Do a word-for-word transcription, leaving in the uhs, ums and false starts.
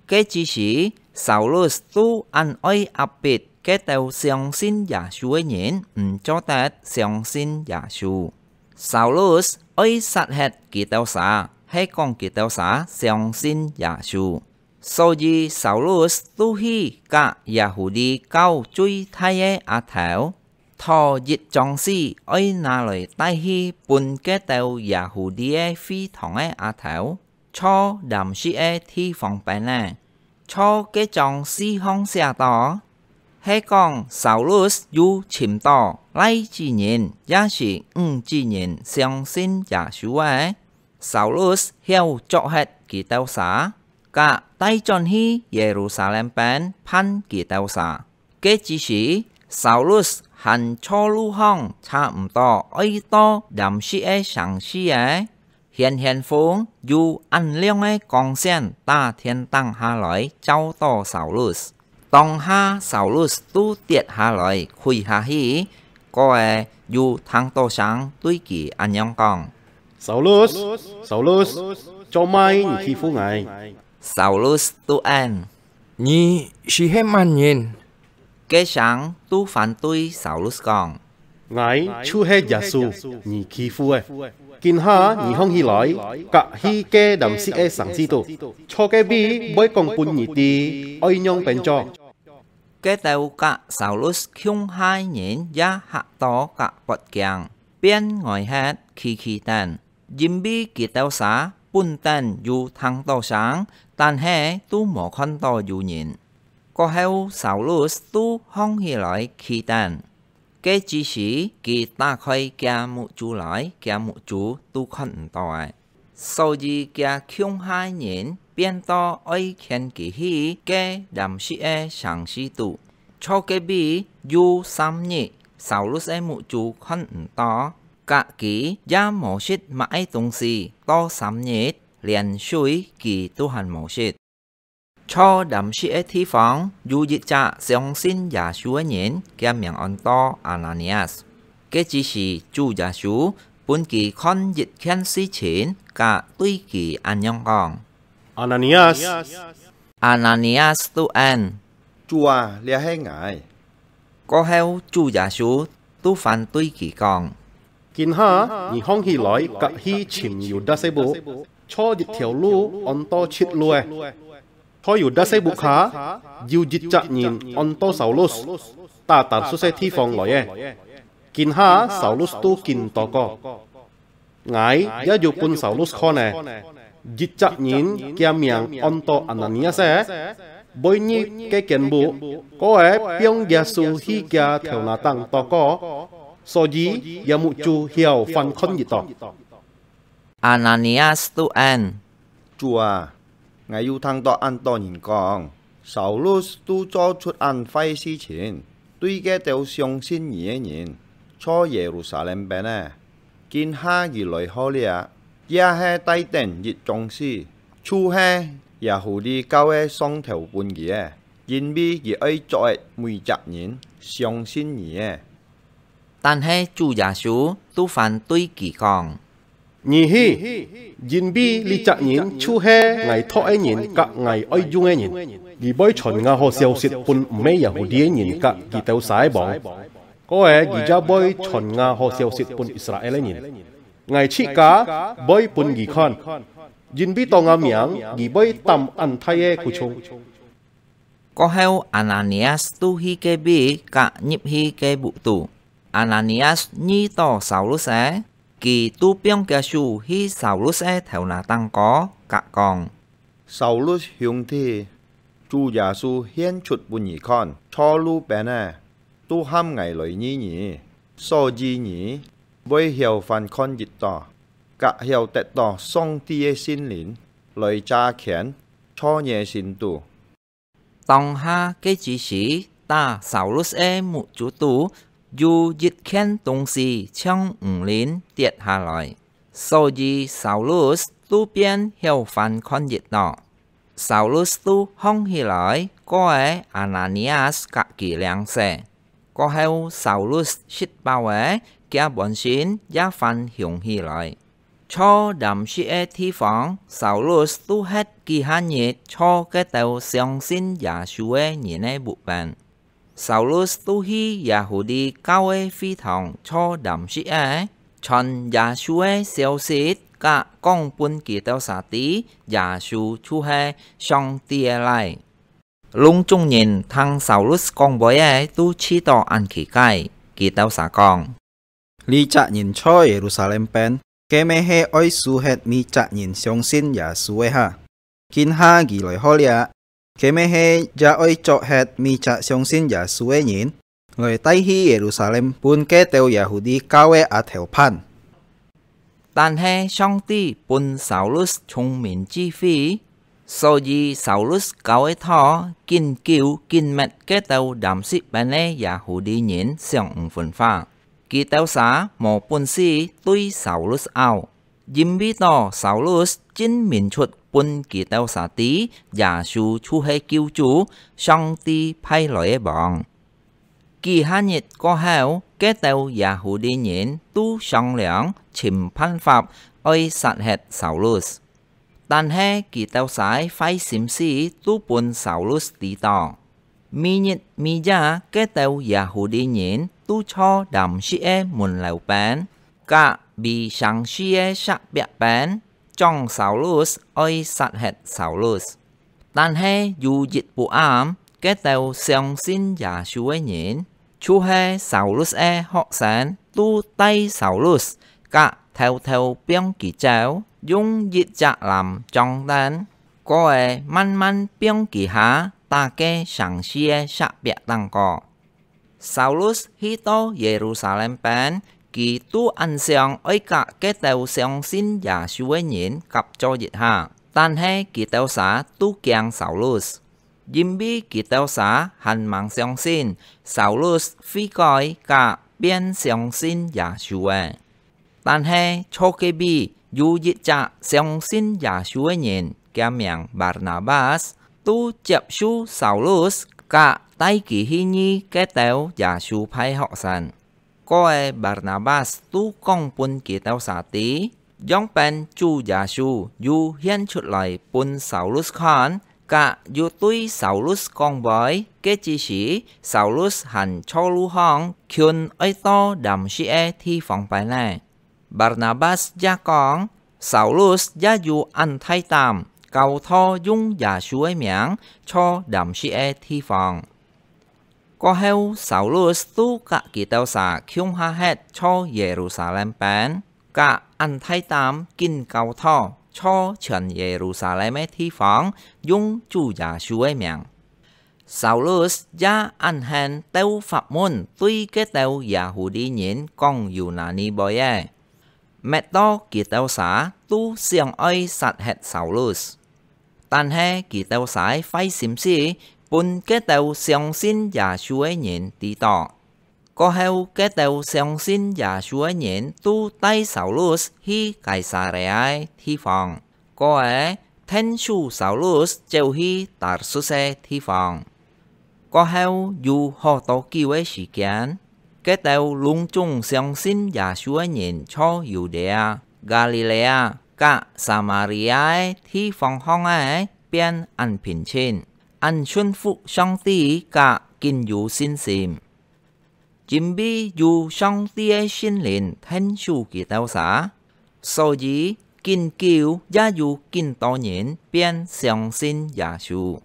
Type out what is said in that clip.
該之時，Saulus都恁愛壓迫該兜相信耶穌个人，毋做得相信耶穌。Saulus愛殺忒佢兜儕，係講佢兜儕相信耶穌。所以Saulus都去佮Yahudi教最大个阿頭，討一張紙，愛拿來帶去分該兜Yahudi个會堂个阿頭， 坐臨食个地方邊仔。坐該張紙項寫到，係講Saulus有尋到倈子人也係女子人相信耶穌个。Saulus曉捉忒佢兜儕，佮帶轉去Yerusalem邊判佢兜儕。 該之時，Saulus還坐路項差毋多愛到Damsik个城市仔，顯顯風有恁亮个光線打天頂下來照到Saulus。當下Saulus都跌下來跪下去，過仔有聽到聲對佢恁樣講：「Saulus，Saulus，做麼你欺負𠊎？」Saulus都應：「你係係麼人？」 該聲都反對Saulus講：「𠊎就係耶穌，你欺負个。今下你䟘起來，跼去該Damsik个城市肚，坐該位會講分你知愛仰般做。」該兜佮Saulus共下个人也嚇到跼發驚，變呆忒企企等，因為佢兜儕本等有聽到聲，但係都無看到有人。 過後Saulus都䟘起來企等。該之時佢打開厥目珠來，厥目珠都看毋到咧。所以厥共下个人變到愛牽佢去該Damsik个城市肚。坐該位有三日，Saulus个目珠看毋到，佮佢也無食麼个東西，到三日，連水佢都還無食。 坐Damsik个地方，有一隻相信耶穌个人，厥名安到Ananias。該之時主耶穌分佢看一件事情，佮對佢恁樣講：「Ananias！」Ananias都應：「主啊，這係𠊎。」 過後主耶穌都還對佢講：「今下你䟘起來跼去尋Yudas个屋，坐一條路安到直路仔。在Yudas个屋下，有一隻人安到Saulus，在Tarsus个地方來个。今下Saulus都緊禱告。 𠊎也有分Saulus看咧，一隻人厥名安到Ananias仔，會入該間屋，過仔放耶穌去厥頭那頂禱告，所以厥目珠曉翻看日頭。」Ananias都應：「主啊， 𠊎有聽到恁多人講，Saulus都做出恁壞事情，對該兜相信你个人，在Yerusalem邊仔。今下佢來好了，也係帶等一張紙，就係Yahudi教个上頭分佢个，因為佢愛捉忒每隻人相信你个。」 但係主耶穌都還對佢講：「你去，因為這隻人就係𠊎擇个人佮𠊎愛用个人。佢會傳𠊎好消息分毋係Yahudi个人佮佢兜儕个王，過仔佢也會傳𠊎好消息分Israel个人。𠊎自家會分佢看，因為到𠊎名，佢會擔恁大个苦衷。」 過後，Ananias都去該位，跼入去該屋肚。Ananias遇到Saulus仔，佢都放厥手去Saulus个頭那頂高，跼講：「Saulus兄弟，主耶穌現出分你看，坐路邊仔，都喊𠊎來醫你，所以你會曉翻看日頭，跼曉得到上帝个聖靈來遮圈在你个心肚。」 當下該之時，在Saulus个目珠肚有一件東西像魚鱗跌下來，所以Saulus都變曉翻看日頭。Saulus都䟘起來，過仔Ananias跼佢領洗。過後Saulus食飽仔，厥本性也翻雄起來。坐臨食个地方，Saulus都歇幾下日坐該兜相信耶穌个人个屋背。Saulus都去耶穌教會个會堂坐臨食个，傳耶穌个消息，甲講分佢兜儕知，耶穌就係上帝个倈。 攏總人聽Saulus講話仔都試著恁奇怪，佢兜儕講：「這隻人在Yerusalem邊，該乜係愛除忒每隻人相信耶穌个哈？今下佢來好了，該乜係也愛捉忒每隻相信耶穌个人，來帶去Yerusalem分該兜Yahudi教會阿頭辦。」 但係上帝分Saulus聰明智慧，所以Saulus教个道緊久緊密該兜臨食邊个Yahudi人想毋分化。佢兜儕無本事對Saulus拗，因為到Saulus證明出分佢兜儕知，耶穌就係救主，上帝派來个王。 幾下日過後，該兜Yahudi人都商量尋辦法愛殺忒Saulus。但係佢兜儕壞心思都分Saulus知著。每日每夜，該兜Yahudi人都坐臨食个門樓邊，甲圍城市个石壁邊， 講Saulus愛殺忒Saulus。但係有一晡暗，該兜相信耶穌个人，就係Saulus个學生，都帶Saulus，甲偷偷放佢走，用一隻籃裝等，過仔慢慢放佢下，打該城市个石壁頂高。 Saulus去到Yerusalem邊，佢都恁想愛甲該兜相信耶穌个人合作一下，但係佢兜儕都驚Saulus，因為佢兜儕還吂相信Saulus會改甲變相信耶穌个。 但係坐隔壁有一隻相信耶穌个人，厥名Barnabas，都接受Saulus，甲帶佢去遇該兜耶穌派學生。過仔Barnabas都講分佢兜儕知，仰般主耶穌又顯出來分Saulus看， 甲又對Saulus講話，該之時Saulus還坐路項，近愛到臨食个地方擺呢。Barnabas也講，Saulus也有恁大膽，教徒用耶穌个名坐臨食个地方。 過後，Saulus都甲佢兜儕共下歇坐Yerusalem邊，甲恁大膽緊教徒坐全Yerusalem个地方，用主耶穌个名。Saulus也恁興鬥法門對該兜Yahudi人講Yunani話个，搣到佢兜儕都想愛殺忒Saulus。 但係佢兜儕壞心思，分該兜相信耶穌个人知著。過後，該兜相信耶穌个人都帶Saulus去該撒利亞个地方，過仔𢯭手Saulus走去Tarsus个地方。 過後有好多久个時間，該兜攏總相信耶穌个人坐Yudea、Galilea甲Samaria个地方項仔變恁平靜，恁順服上帝甲緊有信心。因為有上帝个聖靈𢯭手佢兜儕， 所以，緊久也有緊多人變相信耶穌。